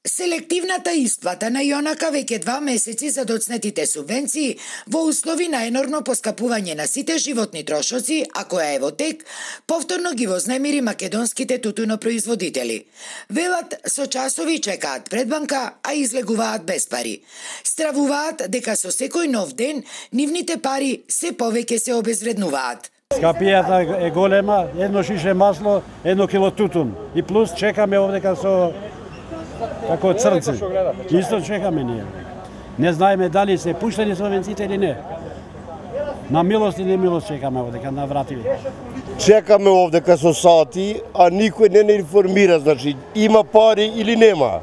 Селективната исплата на јонака веќе 2 месеци за доцнетите субвенции во услови на енормно поскапување на сите животни трошоци, а која е во тек, повторно ги вознемири македонските тутунопроизводители. Велат со часови чекаат пред банка, а излегуваат без пари. Стравуваат дека со секој нов ден нивните пари се повеќе се обезвреднуваат. Скапијата е голема, 1 шише масло, 1 кило тутун. И плюс чекаме овдека со како црнце. Исто чекаме ние. Не знаеме дали се пуштени субвенциите или не. На милост и немилост чекаме овдека на вративе. Чекаме овдека со сати, а никој не информира, значи има пари или нема.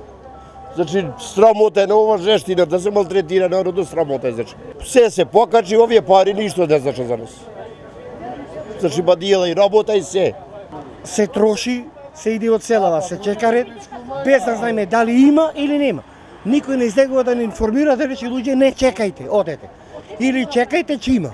Значи срамота е на ова жештина, да се малтретира народот, срамота е, значи. Се покачи, овие пари ништо не значи за нас. Значи бадиела и работа и се. Се троши, се иде од селава, се чека ред, без да знаеме дали има или нема. Никој не излегува да не информира, да рече луѓе не чекајте, одете. Или чекајте че има.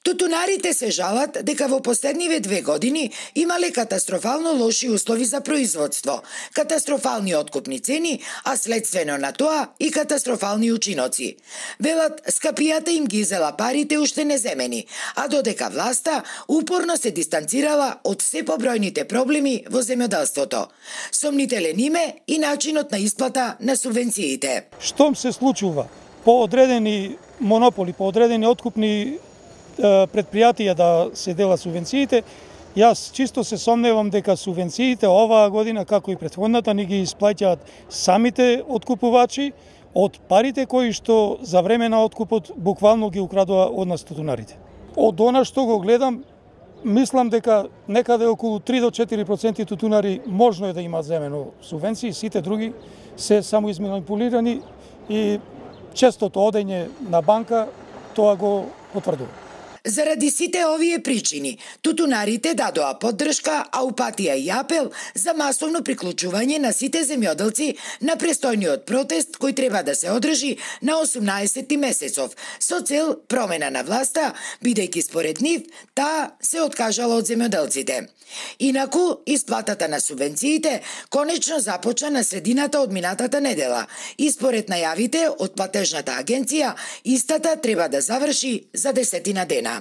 Тутунарите се жалат дека во последниве 2 години имале катастрофално лоши услови за производство, катастрофални откупни цени, а следствено на тоа и катастрофални учиноци. Велат, скапијата им ги изела парите уште неземени, а додека власта упорно се дистанцирала од се побројните проблеми во земјоделството. Сомнителен им е и начинот на исплата на субвенциите. Штом се случува по одредени монополи, по одредени откупни предпријатија да се делат субвенциите, јас чисто се сомневам дека субвенциите оваа година, како и претходната, ни ги исплаќаат самите откупувачи од парите кои што за време на откупот буквално ги украдува од нас тутунарите. Од она што го гледам, мислам дека некаде околу 3 до 4% тутунари можно е да имаат земено субвенции, сите други се само изманипулирани и честото одење на банка тоа го потврдува. Заради сите овие причини, тутунарите дадоа поддршка, а упатија и апел за масовно приклучување на сите земјоделци на престојниот протест кој треба да се одржи на 18 месецов, со цел промена на власта, бидејќи според нив таа се откажала од земјоделците. Инаку, исплатата на субвенциите конечно започна на средината од минатата недела и според најавите од платежната агенција, истата треба да заврши за 10 дена.